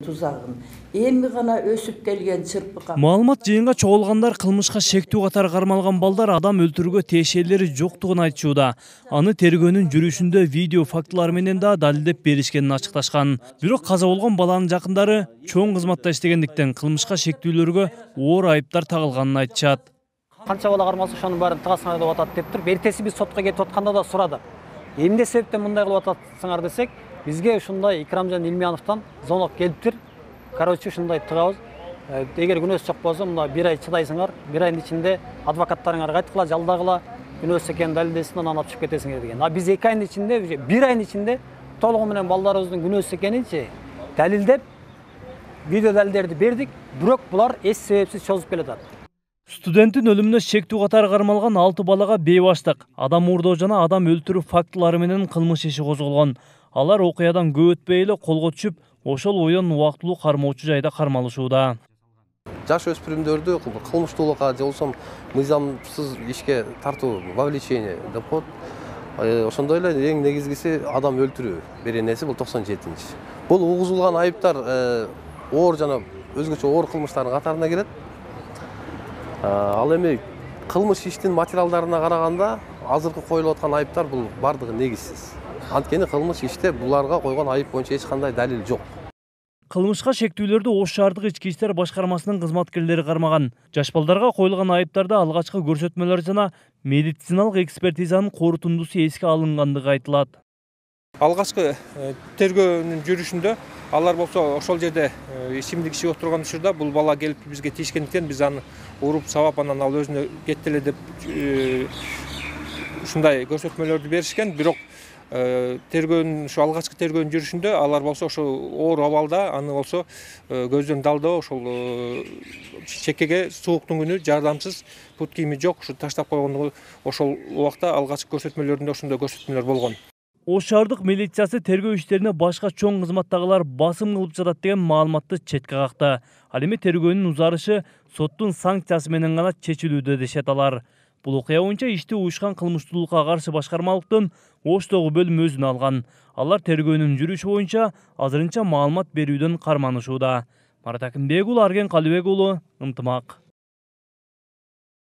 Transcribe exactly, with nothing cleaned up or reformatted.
Тузагын эми гана өсүп келген чырпыкка маалымат жыйынга чогулгандар кылмышка шектүү катары кармалган балдар адам өлтүрүүгө тиешелери жоктугун айтышууда. Аны тергөөнүн жүрүшүндө видео фактылар менен да далилдеп беришкенин ачыкташкан. Бирок каза болгон баланын жакындары чоң кызматта иштегендиктен кылмышка шектүүлөргө оор айыптар тагылганын айтышат. Канча бала кармалса ошонун баарын тыгасыңар деп атат деп туруп, эртеси биз сотко кетип атканда да сурадык. Эмне себептен мындай кылып атасыңар десек, бизге ушундай Икрамжан Илмияновдон звонок келиптир. Короче, ушундай тыгабыз. Эгер күнөөсү жок болсо, мына бир ай чыдайсыңар, бир айдын ичинде адвокаттарыңар кайткыла, жалдагыла, күнөөсү экенин далилдесин, анан алып чыгып кетесиңер деген. А биз эки айдын ичинде, бир айдын ичинде толугу менен балдарыбыздын күнөөсү экенинчи далилдеп, видео далилдерди бердик, бирок булар эс себепсиз чозуп келатат. Студенттин өлүмүнө шектүү катары кармалган алты балага бейбаштык, адам уурдоо жана адам өлтүрүү фактылары менен кылмыш иши козголгон. Алар окуядан көп өтпөй эле колго түшүп, ошол бойдон убактылуу кармоочу жайда кармалышууда. Жаш өспүрүмдөрдү кылмыштуулукка же болбосо мыйзамсыз ишке тартуу, вовлечение деп коет. Ошондой эле эң негизгиси адам өлтүрүү беренеси бул токсон жетинчи. Бул угузулган айыптар оор жана өзгөчө оор кылмыштардын катарына кирет. Ал эми кылмыш иштин материалдарына караганда азыркы коюлуп аткан айыптар бул бардыгы негизсиз. Анткени кылмыш иште буларга койгон айып боюнча эч кандай далил жок. Кылмышка шектүүлөрдү Ош шаардык ички иштер башкармасынын кызматкерлери кармаган. Жаш балдарга коюлган айыптарда алгачкы көрсөтмөлөр жана медициналык экспертизанын корутундусу эске алынгандыгы айтылат. Алгачкы тергөөнүн жүрүшүндө алар болсо ошол жерде ичимдик ичип отурган учурда бул бала келип бизге тийишкендиктен биз аны уруп сабап анан ал өзүнө кетти эле деп ушундай көрсөтмөлөрдү беришкен. Бирок тергөөнүн ушу алгачкы тергөөнүн жүрүшүндө алар болсо ошо оор абалда, аны болсо көздөн далдоо, ошол чекеге сууктун күнү жардамсыз, пут кийими жок, ушу таштап койгондугу ошол убакта алгачкы көрсөтмөлөрүндө ошондой көрсөтмөлөр болгон. Ош шаардык милициясы тергөө иштерине башка чоң кызматтагылар басым кылып жатат деген маалыматты четке какты. Ал эми тергөөнүн узарышы соттун санкциясы менен гана чечилүүдө дешет алар. Бул окуя боюнча ишти уюшкан кылмыштуулукка каршы башкармалыктын Оштогу бөлүмү өзүнө алган. Алар тергөөнүн жүрүшү боюнча азырынча маалымат берүүдөн карманышууда. Марат Акимбек уулу, Арген Калыбек уулу, Ынтымак.